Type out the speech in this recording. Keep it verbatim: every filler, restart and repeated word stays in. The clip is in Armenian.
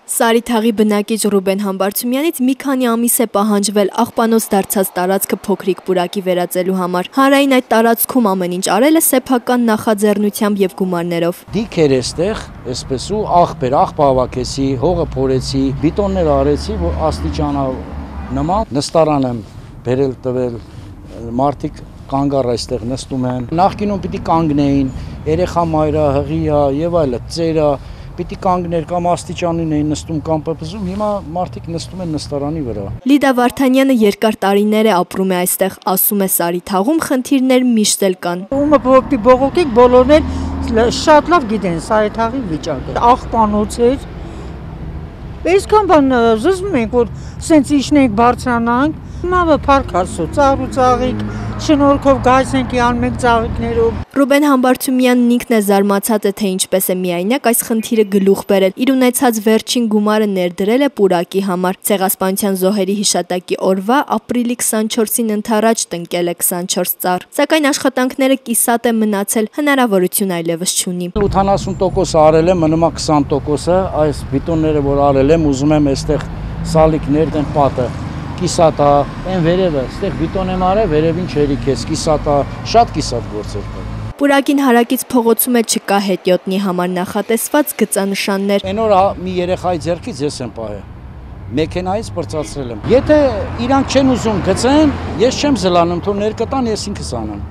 Սարիթաղի բնակիչ Ռուբեն Համբարձումյանից մի քանի ամիս է պահանջվել աղբանոց դարձած տարածքը փոքրիկ պուրակի վերածելու համար։ Հանրային այդ տարածքում ամեն ինչ արել է սեփական նախաձեռնությամբ եւ գումարներով։ Դիքեր էստեղ, այսպես ու աղբեր, աղբ հավաքեցի, հողը փորեցի, բիտոններ արեցի, որ աստիճանա նման նստարան եմ բերել տվել, մարդիկ կանգառ այստեղ նստում են։ Նախկինում պիտի կանգնեին, երեխա մայրա, հղիա եւ այլը, ծերա Պիտի կանգներ կամ աստիճանին էին նստում կամ պպզում, հիմա մարդիկ նստում են նստարանի վրա։ Լիդա Վարդանյանը երկար տարիներ է ապրում է այստեղ, ասում է Սարիթաղում խնդիրներ միշտ էլ կան։ Ումը բողոքի բողոքիկ բոլորներ շատ լավ գիտեն Սարիթաղի վիճակը։ Աղբանոց էր։ Այսքան բան զզվում ենք, որ սենց իջնենք բարձրանանք, հիմա փառք Աստծո, ծաղր ու ծաղիկ, շնորհքով գայս ենք անմեկ ծաղիկներով։ Ռուբեն Համբարձումյանն ինքն է զարմացած է, թե ինչպես է միայնակ այս խնդիրը գլուխ բերել։ Իր ունեցած վերջին գումարը ներդրել է պուրակի համար։ Ցեղասպանության զոհերի հիշատակի օրվա ապրիլի քսանչորսին ընթരാճ տնկել է քսանչորս ծառ։ Սակայն աշխատանքները կիսատ է մնացել, հնարավորություն այլևս չունի։ ութանասուն տոկոս արել եմ, մնում է քսան տոկոսը, այս բիտոնները որ արել եմ, ուզում եմ այստեղ սալիկներ դեն պատը կիսատա, այն վերևը, այստեղ բիտոն եմ արել, վերևին չերիք ես, կիսատա, շատ կիսատ գործեր կա։ Պուրակին հարակից փողոցում է չկա հետիոտնի համար նախատեսված գծանշաններ։ Այն օր մի երեխայի ձեռքից ես եմ պահել, մեքենայից պրծացրել եմ։ Եթե իրանք չեն ուզում գծեն, ես չեմ զլանում, թող ներկտան, ես ինքս անեմ։